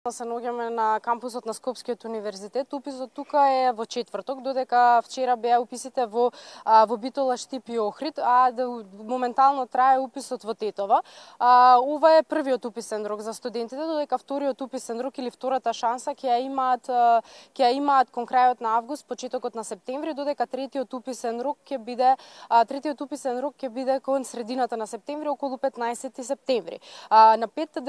Се наоѓаме на кампусот на Скопскиот универзитет. Уписот тука е во четврток, додека вчера беа уписите во Битола, Штип и Охрид, а моментално трае уписот во Тетово. Ова е првиот уписен рок за студентите, додека вториот уписен рок или втората шанса ќе ја имаат кон крајот на август, почетокот на септември, додека третиот уписен рок ќе биде кон средината на септември, околу 15 септември. На 5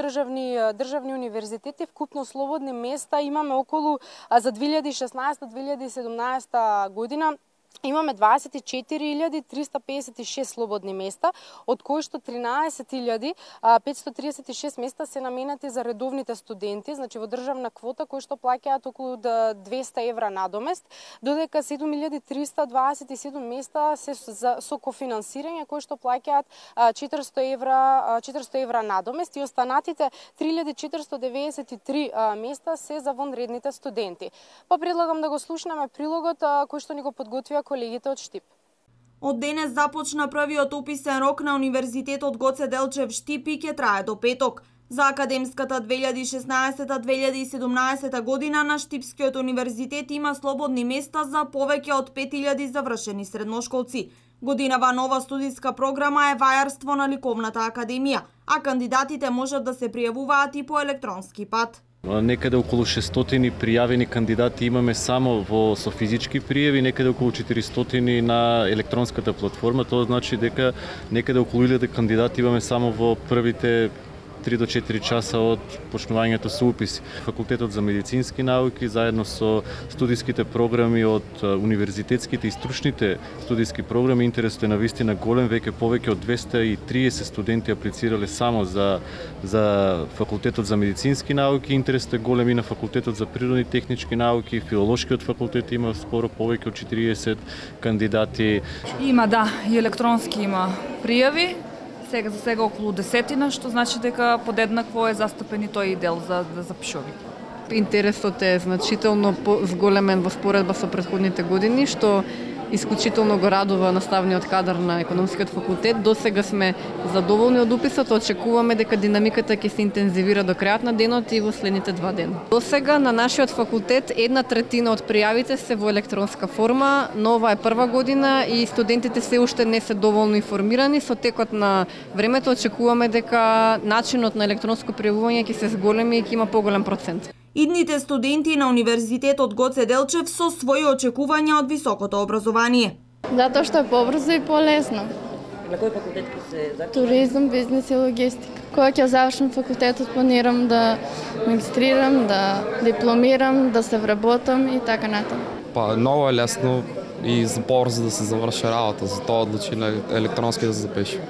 државни универзитети вкупно слободни места имаме околу за 2016-2017 година. Имаме 24.356 слободни места, од кои што 13.536 места се наменати за редовните студенти, значи во државна квота, кои што плаќаат околу 200 евра надомест, додека 7.327 места се со кофинансирање, кои што плаќаат 400 евра надомест, и останатите 3.493 места се за вонредните студенти. Па предлагам да го слушнеме прилогот кој што ни го подготвија колегите од Штип. Од денес започна првиот уписен рок на Универзитетот Гоце Делчев Штип и ќе трае до петок. За академската 2016-2017 година на Штипскиот универзитет има слободни места за повеќе од 5000 завршени средношколци. Годинава нова студиска програма е вајарство на Ликовната академија, а кандидатите можат да се пријавуваат и по електронски пат. Некаде околу 600 пријавени кандидати имаме само со физички пријави, некаде околу 400 на електронската платформа. Тоа значи дека некаде околу 1000 кандидати имаме само во првите 3 до 4 часа од почнувањето со уписи. Факултетот за медицински науки заедно со студиските програми од универзитетските и стручните студиски програми, интересот е навистина голем, веќе повеќе од 230 студенти аплицирале само за Факултетот за медицински науки, интересот е голем и на Факултетот за природни технички науки, Филолошкиот факултет има скоро повеќе од 40 кандидати. Има, и електронски има пријави. За сега околу 10, што значи дека подеднакво е застапен и тој дел за запишови. Интересот е значително зголемен во споредба со претходните години, што исклучително го радува наставниот кадар на економскиот факултет. До сега сме задоволни од уписот, очекуваме дека динамиката ќе се интензивира до крајот на денот и во следните 2 дена. До сега на нашиот факултет 1/3 од пријавите се во електронска форма, но ова е прва година и студентите се уште не се доволно информирани. Со текот на времето очекуваме дека начинот на електронско пријавување ќе се зголеми и ќе има поголем процент. Идните студенти на Универзитетот Гоце Делчев со своји очекувања од високото образование. Затоа што е побрзо и полесно. На кој факултет ќе се запишеш? Туризам, бизнес и логистика. Кога ќе завршам факултетот, планирам да магистрирам, да дипломирам, да се вработам и така натаму. Много е лесно и побрзо да се заврши работа, затоа одлучи на електронски да се запишем.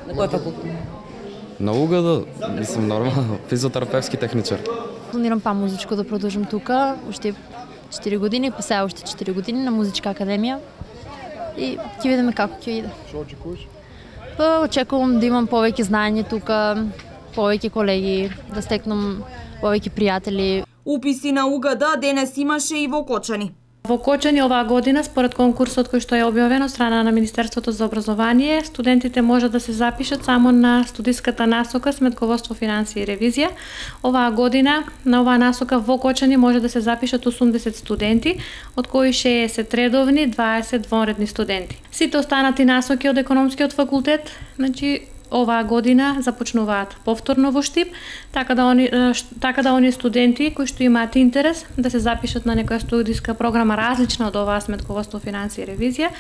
На кој факултет? На УГД, мислам нормално, физиотерапевски техничар. Планирам музичко да продолжам тука, уште 4 години, па сега уште 4 години на музичка академија и ќе видиме како ќе иде. Што очекуваш? Очекувам да имам повеќе знаење тука, повеќе колеги, да стекнам повеќе пријатели. Уписи на УГД денес имаше и во Кочани. Во Кочани оваа година, според конкурсот кој што е објавен од страна на Министерството за образование, студентите можат да се запишат само на студиската насока Сметководство, финансија и ревизија. Оваа година на оваа насока во Кочани може да се запишат 80 студенти, од кои 60 редовни, 20 вонредни студенти. Сите останати насоки од економскиот факултет, значи оваа година започнуваат повторно во Штип, така да оние студенти кои што имаат интерес да се запишат на некоја студиска програма различна од оваа Сметководство, финансија и ревизија,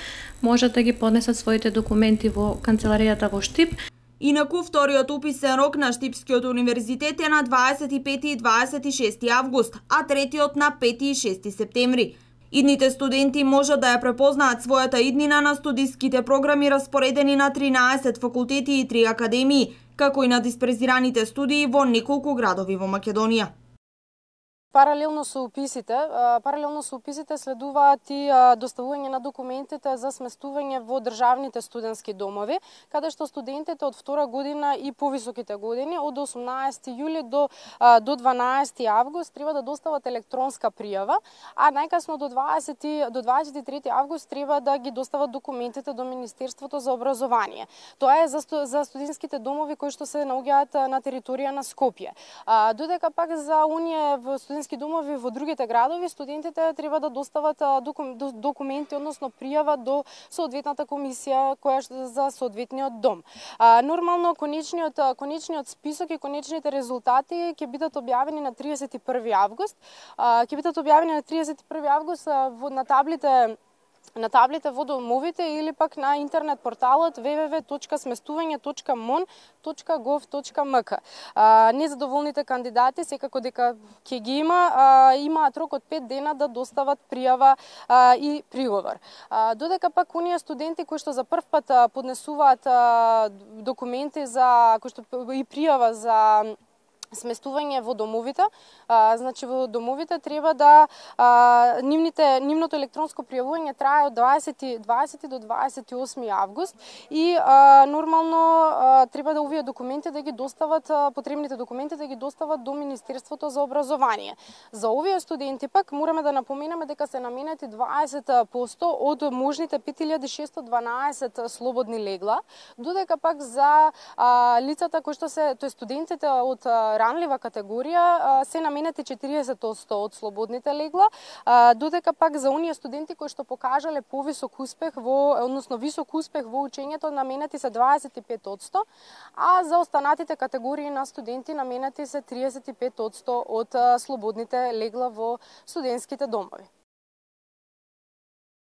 можат да ги поднесат своите документи во канцеларијата во Штип. Инаку вториот уписен рок на Штипскиот универзитет е на 25 и 26 август, а третиот на 5 и 6 септември. Идните студенти можат да ја препознаат својата иднина на студиските програми распоредени на 13 факултети и 3 академии, како и на диспрезираните студии во неколку градови во Македонија. Паралелно со уписите следуваат и доставување на документите за сместување во државните студентски домови, каде што студентите од втора година и повисоките години од 18 јули до 12 август треба да достават електронска пријава, а најкасно до 23 август треба да ги достават документите до Министерството за образование. Тоа е за студентските домови кои што се наоѓаат на територија на Скопје. Додека пак за оние студентски домови во другите градови, студентите треба да достават документи, односно пријава до соодветната комисија која за соодветниот дом. Нормално конечниот список и конечните резултати ќе бидат објавени на 31 август. Ќе бидат објавени на 31 август на таблите во домовите или пак на интернет порталот www.сместување.mon.gov.mk. Незадоволните кандидати секако дека ќе ги имаат рок од 5 дена да достават пријава и приговор. Додека пак оние студенти кои што за прв пат поднесуваат документи и пријава за сместување во домовите, значи во домовите треба да нивното електронско пријавување трае од 20 до 28 август и нормално треба да овие документи да ги достават, потребните документи да ги достават до Министерството за образование. За овие студенти пак мораме да напоменеме дека се наменети 20% од можните 5612 слободни легла, додека пак за лицата кои што се, тој студентите од ранлива категорија се наменети 40% од слободните легла, додека пак за оние студенти кои што покажале повисок успех висок успех во учењето наменети се 25%, а за останатите категории на студенти наменети се 35% од слободните легла во студентските домови.